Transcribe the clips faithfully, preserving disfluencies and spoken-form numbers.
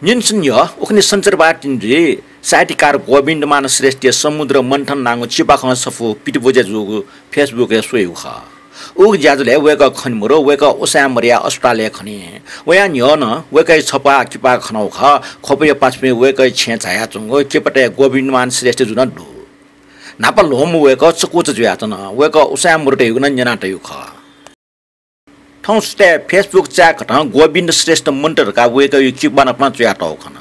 न्यनेसं न्ह्यः उखुन्हु सञ्चारबार तिनि जुइ साहित्यकार गोविन्दमान श्रेष्ठया समुद्र मन्थन नांगु चिबाखं सफू पितब्वज्या जूगु Facebook-य् स्वयागु खः। उगु ज्याझ्वलय् वय्कः खने मरु, वय्कः उसाँय् मदयाः अस्पतालय् खनी। वयाः न्ह्यः नं वय्कःया छपाः किपाः खनागु खः। ख्वपया पासापिं वय्कःया छेँय् झायाच्वंगु किपातय् गोविन्दमान श्रेष्ठ जु नं दु। न्हापा ल्वःमू वय्कः चकूचा जुयाच्वन। वय्कः उसाँय् मरु धयागु नं न्यनातयागु खः। थौं सुथय् Facebook चाय्कथं गोविन्द श्रेष्ठ मन्त धकाः वय्कःया किबाखं नं पिहां च्वयातःगु खन।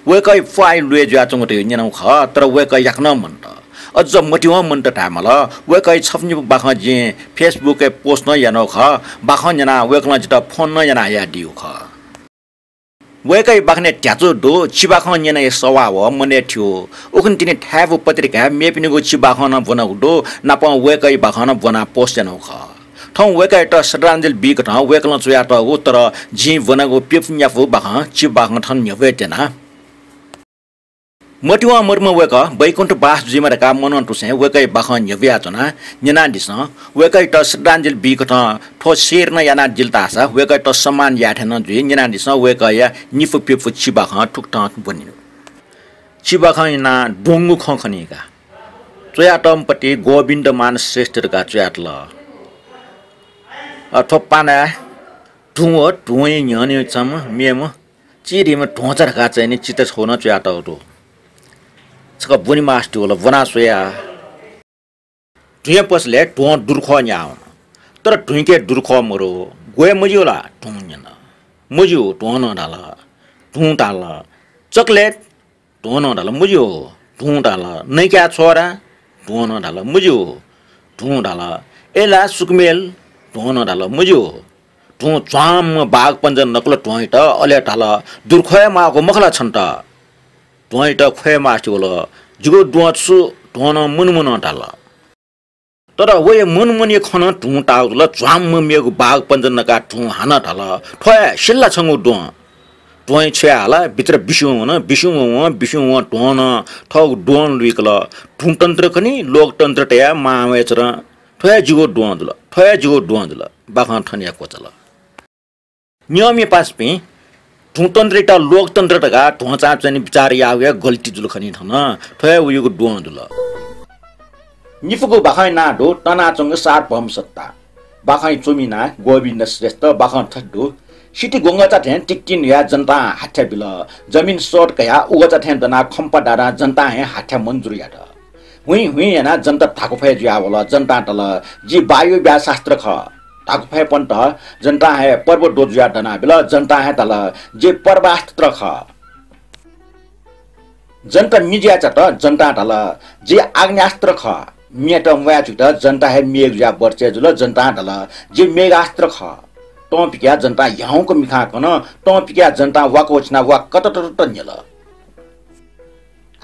वय्कःया प्वाः ल्वय् जुयाच्वंगु धयागु न्यनागु खः, तर वय्कः याकनं मन्त। अझ मतिवं मन्त धायेमाल, वय्कःया छपु निपु बाखं जिं Facebook-य् post नं यानागु खः। बाखं न्यनाः वय्कलं जितः phone नं यानाहयादीगु खः। वय्कःया बाखनय् ध्याचु दु, चिबाखं न्यनाः हे सवाः वः, मनय् थ्यू। उखुन्हु तिनि थाय्बु पत्रिकाय् मेपिनिगु चिबाखं नं ब्वनागु दु, नापं वय्कःया बाखं नं ब्वनाः post यानागु खः। थौं वय्कःयात श्रद्धाञ्जलि बीकथं वय्कलं च्वयातःगु, तर जिं ब्वनागु प्यपु न्यापु बाखं चिबाखं थन न्ह्यब्वये त्यना। मतिवं मरुम्ह वय्कः वैकुण्ठवास जुइमा धकाः मनंतुसें वय्कःया बाखं न्ह्यब्वयाच्वना। न्यनादिसँ, वय्कःयात श्रद्धाञ्जलि बीकथं थ्व share नं यानादिल धाःसा वय्कःयात सम्मान याये थें नं जुइ। न्यनादिसँ, वय्कःया निपु प्यपु चिबाखं थुकथं ब्वनीगु। चिबाखं न्यनाः द्वंगु खँ खनी का। च्वयातःम्ह पति गोविन्दमान श्रेष्ठ धकाः च्वयातल। अ, थ्व पानाय् धुं व धुंया न्ह्यःने छम्ह मेम्ह चिधीम्ह ध्वंचा धकाः च्वनीगु चिता छगू नं च्वयातःगु दु। छकः ब्वने मास्ति वल, ब्वना स्वया। धुंया पसलय् ध्वं दुर्खः न्याः वन। तर धुंके दुर्खः मरु। ग्वय् मज्यू ला? धुं न्यन। मज्यू, ध्वं नं धाल। धुं धाल, चकलेट? ध्वं नं धाल, मज्यू, धुं धाल। नैकाय् छ्वरा? ध्वं नं धाल, मज्यू, धुं धाल। अय् ला सुकुमेल? ध्वं नं धाल, मज्यू। धुं झ्वाम्म बाघ पञ्जर नकल ध्वंयात, अले धाल, दुर्खः हे माःगु मखु ला छन्त? ध्वंयात ख्वये मास्ति वल। जिगु द्वं छु? ध्वं नं मुन मुन धाल। तर वया मुन मुनया खँ नं धुं ताःगु जुल। झ्वाम्म मेगु बाघ पञ्जर नकाः धुं हानं धाल, थ्व हे सिल ला छंगु द्वं? ध्वं छ्वया हाला, भित्र बिस्युं वन, बिस्युं वं, बिस्युं वं ध्वं नं थःगु द्वं लुइकल। धुं तन्त्र खनी, लोकतन्त्र तयाः मां वय् चरं। थ्व हे जिगु द्वं जुल, थ्व हे जिगु द्वं जुल। बाखं थन हे क्वचाल। नियमया पासापिं, धुंतन्त्रयात लोकतन्त्र धकाः ध्वंचां च्वने बिचाः याःगु हे गल्ती जुल खनी थन। थ्व हे वयागु द्वं जुल। निपुगु बाखंया नां दु तनाच्वंगु सार्वभौम सत्ता। बाखंया च्वमि नां गोविन्द श्रेष्ठ। बाखं थथे दु। सिति ग्वंगःचा थें तिकतिक न्हुयाः जनतां हाथ्या बिल। जमिन सःत कयाः उगःचा थें दनाः खम्पा दादां जनतां हे हाथ्या मन्जुर यात। हुइँ हुइँ यानाः जनता धाकुफय् जुयावल। जनतां धाल, "जि वायु व्याशास्त्र खः।" धाकुफय्‌पन्त जनतां हे पर्व द्वः जुयाः दनाबिल। जनतां हे धाल, "जि पर्वास्त्र खः।" जनता मि जुयाच्वंत। जनतां धाल, "जि आग्नेयास्त्र खः।" मियात म्वाये जुइत जनता हे मेघ जुयाः बर्चे जुल। जनतां धाल, "जि मेघास्त्र खः।" तं पिकयाः जनतां ह्याउँक मिखां कन। तं पिकयाः जनतां वाक वछिनाः वा कतततत न्ह्यल।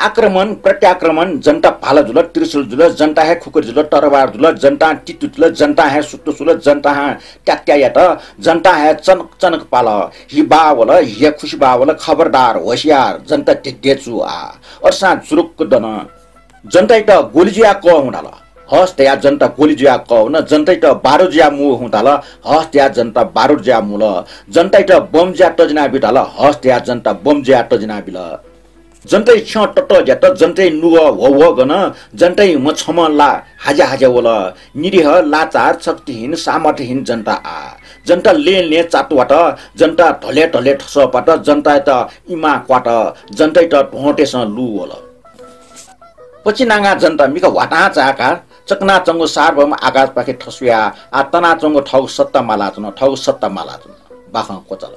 आक्रमण, प्रत्याक्रमण, जनता भाला जुल, त्रिशूल जुल, जनता हे खुकुरी जुल, तरवार जुल, जनतां तितु जुल, जनतां हे सुत्तु सुल, जनतां हे त्यात्या यात, जनतां हे चनक चनक पाल। हि बावल, हि खुसि बावल, खबरदार, होशियार, जनता ध्येध्येचु आ। असां जुरुक्क दन। जनतायात गोली जुयाः कः हुँ धाल। हस् धयाः जनता गोली जुयाः कः हुँ न। जनतायात बारुद जुयाः मू हुँ धाल। हस् धयाः जनता बारुद जुयाः मुल। जनतायात बम जुयाः तजिना बी धाल। हस् धयाः जनता बम जुयाः तजिना बिल। जनताया छ्यं ततः ज्यात, जनताया नुगः ह्वःह्वः गन, जनताया म्ह छम्ह ला हाज्या हाज्या वल। निरीह, लाचार, शक्तिहीन, सामर्थ्यहीन जनता आ। जनता लें लें चात वात, जनता धले धले थसः पात, जनतायात इमा क्वात, जनतायात ध्वंतय्‌सं लू वल। पचिनांगा जनता मिखा ह्वातां चाय्‌काः चकनाच्वंगु सार्वभौम आकाशपाखे थस्वयाः आः तनाच्वंगु थःगु सत्ता मालाच्वन, थःगु सत्ता मालाच्वन। बाखं क्वचाल।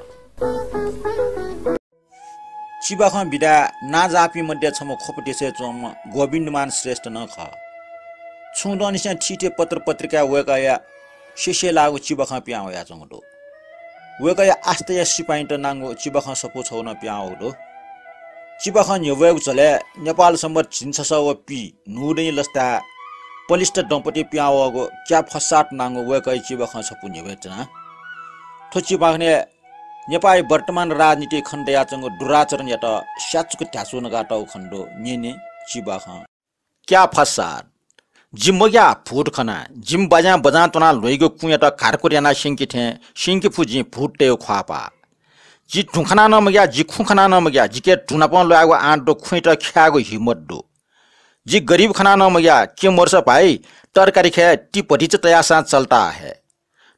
चिबाखं विधाय् नांजाःपिं मध्ये छम्ह ख्वप देशय् च्वंम्ह गोविन्दमान श्रेष्ठ नं खः। छुं दँनिसें थीथी पत्र पत्रिकाय् वय्‌कःया सेसेलाःगु चिबाखं पिहां वयाच्वंगु दु। वय्‌कःया आस्थाया सिपाइँत नांगु चिबाखं सफू छगू नं पिहां वःगु दु। चिबाखं न्ह्यब्वयेगु झ्वलय् नेपाल संवत् झिंछसः व पीन्हूदँया लसताय् पलिस्था दँपति पिहां वःगु क्या फसाद नांगु वय्‌कःया चिबाखं सफू न्ह्यब्वये त्यना। थ्व चिबाखनय् नेपाःया वर्तमान राजनीतिइ खने दयाच्वंगु दुराचरणयात स्याचुक ध्याचु नकातःगु खने दु। न्यने चिबाखं। क्या फसाद। जि मग्याः भूत खना, जिमि बाज्यां बजां त्वनाः ल्वइगु कुँयात घारकुर यानाः स्यंके थें स्यंके फु जिं भूततय्‌गु ख्वाःपाः। जि धुँ खना नं मग्या, जि खुँ खना नं मग्या, जिके धुँ नाप ल्वायेगु आँट दु, खुँइत ख्यायेगु हिम्मत दु। जि गरिब खना नं मग्या, के मरुसा भाइ, तरकारी खय् ति भतिचा तयासां चलता हे।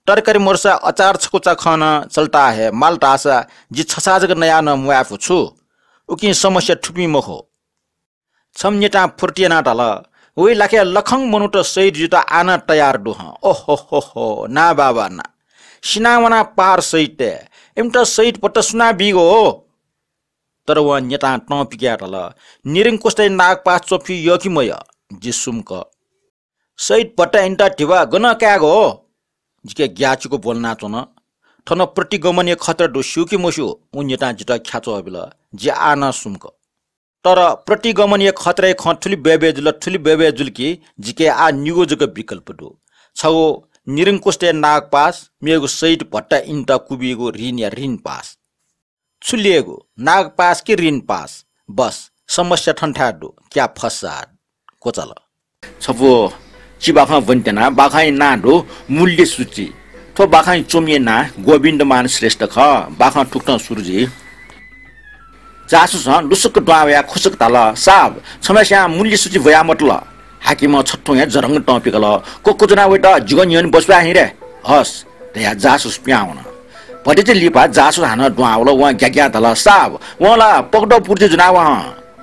तरकारी मरुसा अचार छकुचा खँ नं चलता हे, माल धाःसा जि छछाः जक नयाः नं म्वायेफु छु। उकिं समस्या थुपिं मखु। छम्ह न्यतां फुर्ति यानाः धाल, वइ लाखे लखं मनूत शहीद जुइत आः नं तयार दु हं। ओहो हो हो, ना बाबा ना। सिनावना पार शहीदतय्, इमित शहीद भत्ता सुनां बीगु हो? तर वं न्यतां तं पिकयाः धाल, निरंकुशतय् नागपास च्वफि यः कि मयः, जि सुम्क। शहीद भत्ता इमित धिबा गनं कायेगु हो? जिके ग्याःचिकु ब्वलनाच्वन। थन प्रतिगमनया खतरा दु, स्यू कि मस्यू? उ न्यतां जितः ख्याच्वः बिल। जि आः नं सुम्क। तर प्रतिगमनया खतराया खँ थुलि बय्बय् जुल, थुलि बय्बय् जुल कि जिके आः निगू जक विकल्प दु। छगू निरंकुशतय् नागपास, मेगु शहीद भत्ता इमित क्वबीगु ऋणया ऋण पास। छु लेगु, नागपास कि ऋण पास? बस, समस्या थन थाय् दु, क्या फसाद। क्वचाल। छपु चिबाखं ब्वनेत्यना, बाखंया नां दु मूल्यसूची। थ्व बाखंया च्वमिया नां गोविन्दमान श्रेष्ठ खः। बाखं थुकथं सुरु जुइ। जासुसं लुसुक्क दुहां वयाः खुसुक धाल, साब, छम्हस्यां मूल्यसूची ब्वयामतल। हाकिमं छथुं हे जरंग तं पिकल, क्वक्वज्वना वइत, जिगु न्ह्यःने ब्वस्वाये हिँ रे। हस्, धयाः जासुस पिहां वन। भतिचा लिपा जासुस हानं दुहां वल। वं ग्याग्यां धाल, साब, वं ला पकदौ पुर्जी ज्वनावं।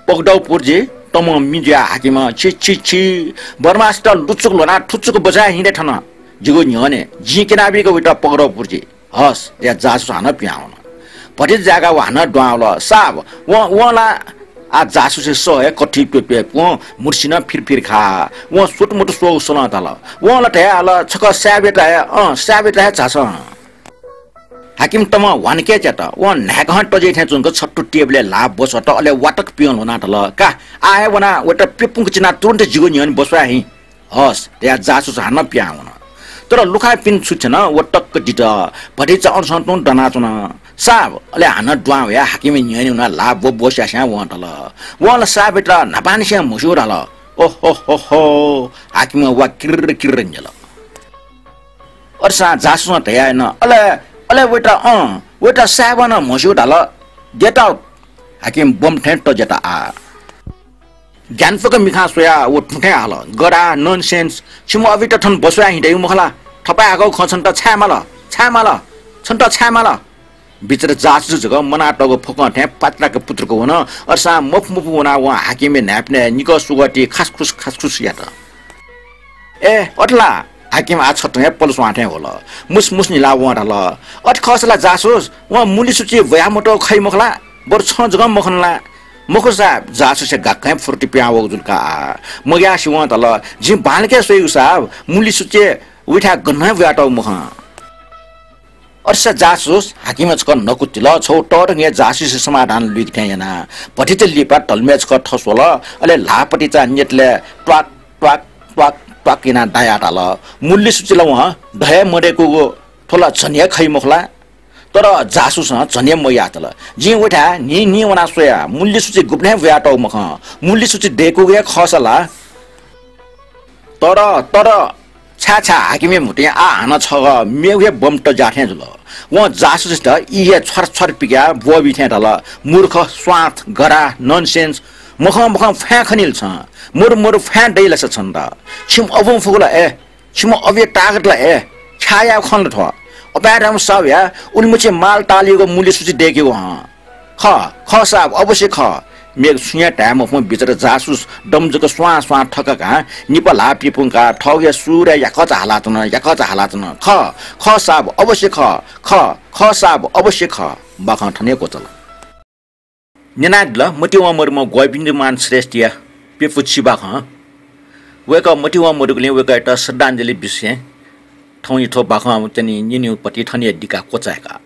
पकदौ पुर्जी? तमं मि जुयाः हाकिमं, छि छि छि, बदमासत लुचुक ल्ह्वनाः थुचुक ब्वस्वाये हिँ रे थन। जिगु न्ह्यःने जिं क्यनाबीगु वइत पकदौ पुर्जी। हस्, धयाः जासुस हानं पिहां वन। भतिचा जाय्काः व हानं दुहां वल। साब, वं, वं ला, आ जासुसया सः हे कथि प्यप्यपुं मुर्सिनं फिरफिर खा। वं स्वतुमतु स्वःगु स्वलं धाल। वं ला धयाहल, छकः साबयात हे, अँ, साबयात हे झासँ। हाकिम तमं ह्वानके च्यात। वं न्हाय्कं तज्याइ थें च्वंक छत्तु टेबलय् ल्हाः ब्वस्वात, अले वातक पिहां ल्ह्वनाः धाल, का, आः हे वनाः वइत प्यपुंक चिनाः तुरुन्त जिगु न्ह्यःने ब्वस्वाये हिँ। हस्, धयाः जासुस हानं पिहां वन। तर लुखाय् पिने छु थ्यन, व तक्क दित। भतिचा अनसं तुं दनाच्वन। साब, अले हानं दुहां वयाः हाकिमया न्ह्यःने वनाः ल्हाः ब्वब्वस्यास्यां वं धाल। वं ला साबयात न्हापांनिसें म्हस्यू धाल। ओहो हो हो, हाकिमं वा किर्र किर्र न्यल। अथेसां जासुसं धयाः याना, अले, अले वइत, अँ, वइत साबं नं म्हस्यू धाल। Get out। हाकिम बम थें तज्यात आः। ग्यानापुक मिखां स्वयाः व थुथें हाल, गधा, nonsense, छिम्ह अभित थन ब्वस्वाये हिँ दइगु मखु ला? थपाय् हाकःगु खँ छन्त छाय् माल? छाय् माल? छन्त छाय् माल? बिचरा जासुस जक मनातःगु फुकं थें पात्राक पुत्रुक वन। अथेसां मफु मफु वनाः वं हाकिमया न्हाय्पनय् निकः सुगः ति खासखुस खासखुस यात। ए, अथे ला? हाकिम आः छथुं हे पलस्वां थें ह्वल। मुसमुस निलाः वं धाल, अथे खःसा ला जासुस, वं मूल्यसूची ब्वयामतःगु खइ मखु ला? बरु छं जकं मखन ला? मखु साब, जासुसया गाक्कं हे फुर्ति पिहां वःगु जुल का आः। मग्यासे वं धाल, जिं बांलाक स्वयागु साब, मूल्यसूची उइथाय् गनं हे ब्वयातःगु मखं। अथेसां जासुस हाकिमया छकः नकु तिल, छगू तःधंगु हे जासुसया समाधान लुइके थें यानाः। भतिचा लिपा धल्मय् छकः थस्वल, अले ल्हाः पतिचा न्यतलय् त्वाक, त्वाक, त्वाक, त्वाक यानाः दायाः धाल, मूल्यसूची ला वं द हे मदय्कूगु, थ्व ला झन हे खइ मखु ला? तर जासुसं झन हे मयाः धाल, जिं उइथाय् न्हिं न्हिं वनाः स्वया, मूल्यसूची गुबलें हे ब्वयातःगु मखं, मूल्यसूची दय्कूगु हे खःसा ला। तर, तर, छाय् छाय् हाकिमया म्हुतुं आः हानं छगः मेगु हे बम तज्याः थें जुल। वं जासुसयात ई हे छ्वार छ्वार पिकयाः ब्वःबी थें धाल, मूर्ख, स्वार्थ, गधा, nonsense, मखं मखं फ्वाँय् खनी ला छं? मरु मरु फ्वाँय् दइ ला सा छन्त? छिम्ह अबुं फुगु ला ए? छिम्ह अबुया ताकत ला ए? ख्याः यायेगु खँ ला थ्व? अपाय् धाःम्ह साहुया उलिमछि माल तालयागु मूल्यसूची दय्केगु हं। खः, खः साब, अवश्य खः। मेगु छुं हे धाये मफुम्ह बिचरा जासुस दम जक स्वां स्वां थकाकां निपा ल्हाः पिपुंकाः थःगु हे सुरय् याकःचा हालाच्वन, याकःचा हालाच्वन। खः, खः साब, अवश्य खः। खः, खः साब, अवश्य खः। बाखं थन हे क्वचाल। न्यनादिल मतिवं मदुम्ह गोविन्दमान श्रेष्ठया प्यपु चिबाखं। वय्कः मतिवं मदुगुलिं वय्कःयात श्रद्धाञ्जलि बिसें थौंया थ्व बाखं च्वनी न्यनेगु पति थन हे दिका क्वचाय्का।